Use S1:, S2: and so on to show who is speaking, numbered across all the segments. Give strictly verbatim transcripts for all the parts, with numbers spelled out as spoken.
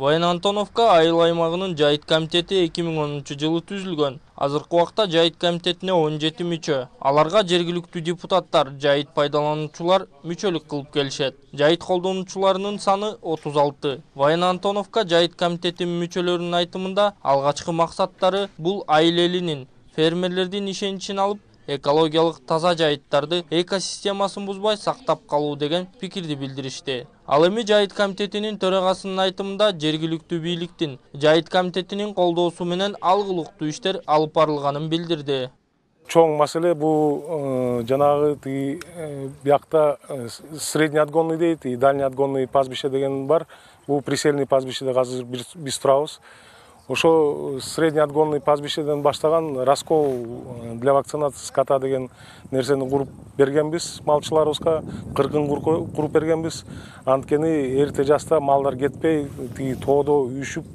S1: Баян Антоновка айыл аймагынын жайыт комитети эки миң онунчу жылы түзүлгөн. Азыркы убакта жайыт комитетине он жети мүчө. Аларга жергиликтүү депутаттар, жайыт пайдалануучулар мүчөлүк кылып келишет. Жайыт колдонуучуларынын саны отуз алты. Баян Антоновка жайыт комитетинин мүчөлөрүнүн айтымында алгачкы максаттары бул айыл элинин, фермерлердин ишеничин алып, экологиялык таза жайыттарды экосистемасын бузбай сактап калуу деген пикирди билдиришти. Ал эми жайыт комитетинин төрагасынын айтымында жергиликтүү бийликтин жайыт комитетинин колдоосу менен алгылыктуу иштер алып барылганын билдирди.
S2: Чоң маселе бул жанагы тиги биякта средний отгонный дейт, и дальний отгонный пастбище деген бар. Бул прицельный пастбищеде азыр биз турабыз. Ошо средний отгонный пастбищеден баштаган раскол для вакцинации скота деген нерсени куруп бергенбиз малчыларыбызга, кыргын куруп бергенбиз. Анткени эрте жашта малдар кетпей, тиги тоодо үйшүп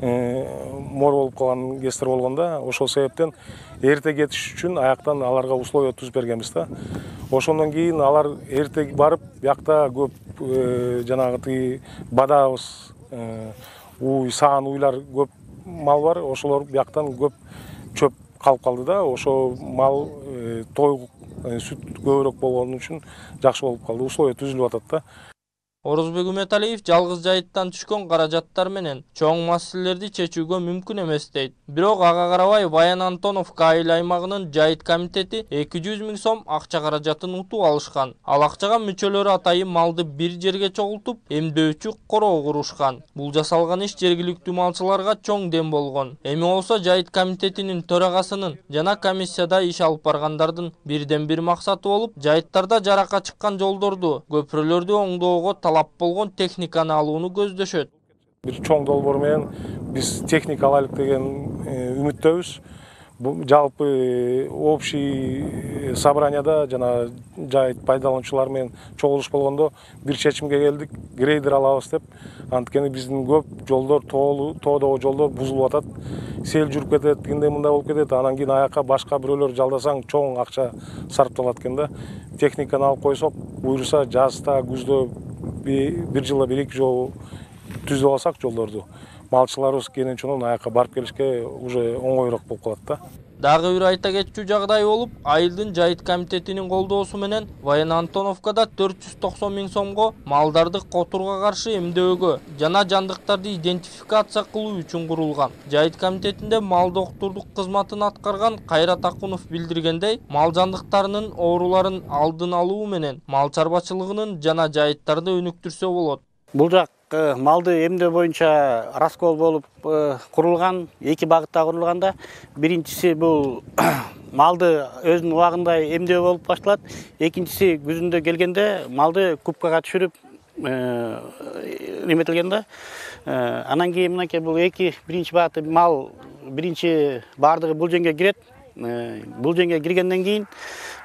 S2: мор болуп калган кездер болгондо, ошол себептен эрте кетиш үчүн аяктан аларга условия түзүп бергенбиз да. Ошондон кийин алар эрте барып, биякта көп жанагы тиги бадабыз, уй, саан уйлар көп мал бар, ошолор бияктан көп чөп калып калды да. Ошо мал той сүт көбүрөөк болгон үчүн жакшы болуп калды. Условия түзүлүп атат да.
S1: Орозбек Үмөталиев жалгыз жайыттан түшкөн каражаттар менен чоң маселелерди чечүүгө мүмкүн эмес дейт. Бирок ага карабай Баян Антоновка айыл аймагынын жайыт комитети эки жүз миң сом акча каражатын утуп алышкан. Ал акчага мүчөлөрү атайын малды бир жерге чогултуп, эмдөөчү короо курушкан. Бул жасалган иш жергиликтүү малчыларга чоң дем болгон. Эми болсо жайыт комитетинин төрагасынын жана комиссияда иш алып баргандардын бирден бир максаты болуп, жайыттарда жаракка чыккан жолдорду, көпүрөлөрдү оңдоого талап болгон техниканы алууну көздөшөт.
S2: Бир чоң долбоор менен биз техника алайлык деген үмүттөбүз. Бул жалпы общий собранияда жана жайыт пайдалануучулар менен чогулуш болгондо бир чечимге келдик, грейдер алабыз деп. Анткени биздин көп жолдор, тоодогу жолдор бузулуп атат. Сел жүрүп кетет, тигиндей мындай болуп кетет. Анан кийин аякка башка бирөөлөр жалдасаң чоң акча сарпталат экен да. Техниканы алып койсок, буюрса жазда, күздө бир жылда бир эки жолу түзүп алсак жолдорду, малчыларыбыз кенен-чонон аякка барып келишке уже оңоюраак болуп калат да.
S1: Дагы бир айта кетчү жагдай болуп, айылдын жайыт комитетинин колдоосу менен Баян Антоновкада төрт жүз токсон миң сомго малдарды котурга каршы эмдөөгө жана жандыктарды идентификация кылуу үчүн курулган. Жайыт комитетинде мал доктурдук кызматын аткарган Кайрат Акунов билдиргендей, мал жандыктарынын ооруларын алдын алуу менен мал чарбачылыгынын жана жайыттарды өнүктүрсө болот.
S3: Бул жак малды эмдөө боюнча раскол болуп курулган, эки багытта курулганда, биринчиси бул малды өзүнүн убагында эмдөө болуп башталат, экинчиси күзүндө келгенде малды кубкага түшүрүп эметилген да. Анан кийин мынакей бул эки биринчи багыты мал биринчи баардыгы бул жеңге кирет. Бул жеңге киргенден кийин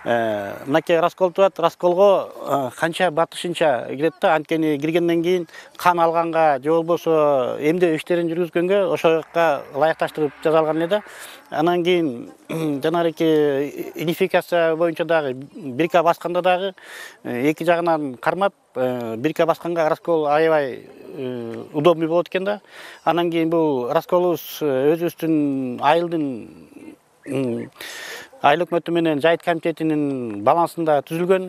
S3: мынакей раскол турат, расколго канча батышынча кирет да. Анткени киргенден кийин кан алганга же болбосо эмдөө иштерин жүргүзгөнгө ошого ылайыкташтырып жасалган эле да. Анан кийин жанагы идентификация боюнча дагы бирка басканда дагы эки жагынан кармап, бирка басканга раскол аябай удобный болот экен да. Анан кийин бул расколубуз өзүбүздүн айылдын айыл өкмөтү менен жайыт комитетинин балансында түзүлгөн.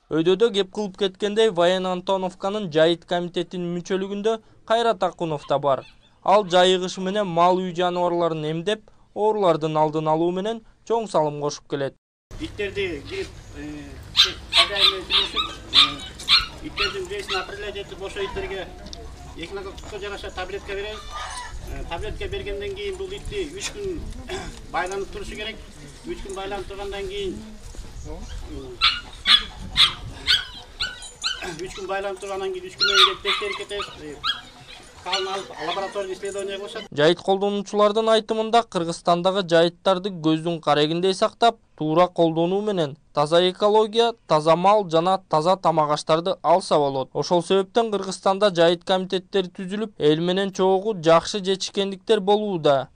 S1: Өйдөдө кеп кылып кеткендей Баян Антоновканын жайыт комитетинин мүчөлүгүндө Кайрат Акунов да бар. Ал жайыгыш менен мал үй жаныбарларын эмдеп, оорулардын алдын алуу менен чоң салым кошуп келет.
S3: Иттерди кирип, хозяин менен сүйлөшүп, иттердин биресин определять этип, ошо иттерге экинококко жараша таблетка беребиз. Таблетка бергенден кийин бул итти үч күн байланып турушу керек. үч күн байланып тургандан кийин үч күн байланып тургандан кийин үч күндөн кийин текшерип кетебиз. Калын алып лабораторный исследование кылышат.
S1: Жайыт колдонуучулардын айтымында Кыргызстандагы жайыттарды көздүн карегиндей сактап, туура колдонуу менен таза экология, таза мал жана таза тамак аштарды алса болот. Ошол себептен Кыргызстанда жайыт комитеттери түзүлүп, эл менен чогуу жакшы жетишкендиктер болууда.